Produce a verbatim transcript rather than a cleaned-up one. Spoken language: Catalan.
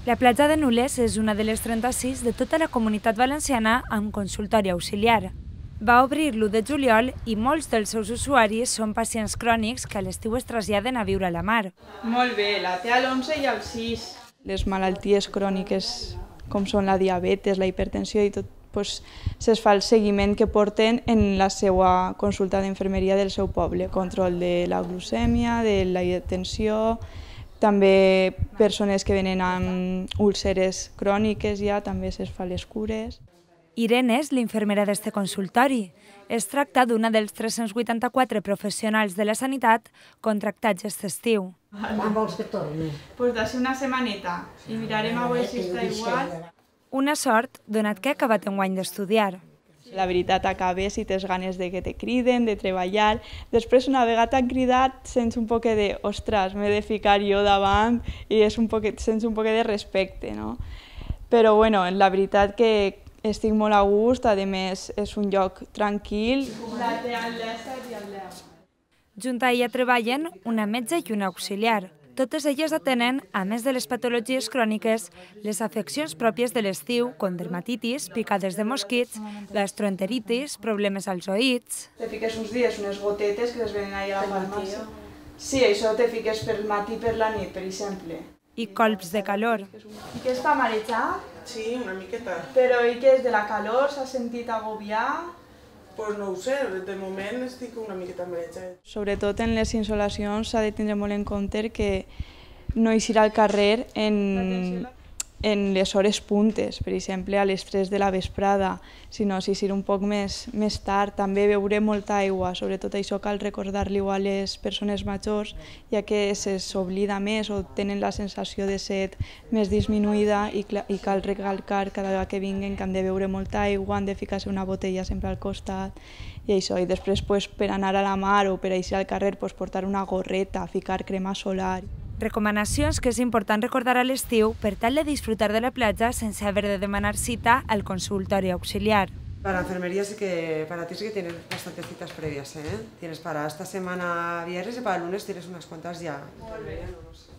La platja de Nules és una de les trenta-sis de tota la Comunitat Valenciana amb consultori auxiliar. Va obrir l'u de juliol i molts dels seus usuaris són pacients crònics que a l'estiu es traslladen a viure a la mar. Molt bé, la té a l'onze i al sis. Les malalties cròniques com són la diabetes, la hipertensió i tot, doncs, se'ls fa el seguiment que porten en la seva consulta d'infermeria del seu poble. Control de la glucèmia, de la hipertensió, també persones que venen amb úlceres cròniques ja, també se'ls fa les cures. Irene és l'infermera d'este consultori. Es tracta d'una dels tres-cents vuitanta-quatre professionals de la sanitat contractats aquest estiu. Quan vols que torni? Doncs d'ací una setmaneta i mirarem a veure si està igual. Una sort, donat que ha acabat enguany d'estudiar. La veritat acaba si tens ganes de que te criden, de treballar. Després, una vegada t'han cridat, sents un poc de, ostres, m'he de ficar jo davant i és un poc, sents un poc de respecte, no? Però, bueno, la veritat que estic molt a gust, a més, és un lloc tranquil. La té al disset i al deu. Junt a ella treballen una metge i una auxiliar. Totes elles atenen, a més de les patologies cròniques, les afeccions pròpies de l'estiu, com dermatitis, picades de mosquits, gastroenteritis, problemes als oïts. Te fiques uns dies unes gotetes que les venen ahir a la farmàcia. Sí, això te fiques per matí i per la nit, per exemple. I colps de calor. I que està marejat? Sí, una miqueta. Però i que és de la calor? S'ha sentit agobiat? Doncs no ho sé, de moment estic una miqueta marejat. Sobretot en les insolacions s'ha de tenir molt en compte que no eixir al carrer en, en les hores puntes, per exemple a les tres de la vesprada, sinó si eixir un poc més, més tard, també beure molta aigua, sobretot això cal recordar-li a les persones majors, ja que s'oblida més o tenen la sensació de set més disminuïda i, i cal recalcar cada vegada que vinguen que han de beure molta aigua, han de ficar-se una botella sempre al costat i això. I després pues, per anar a la mar o per eixir al carrer pues, portar una gorreta, ficar crema solar. Recomanacions que és important recordar a l'estiu per tal de disfrutar de la platja sense haver de demanar cita al consultori auxiliar. Para enfermería sí que, para ti sí que tienes bastantes citas previas, ¿eh? Tienes para esta semana viernes y para el lunes tienes unas cuantas ya. Molt bé, no lo sé.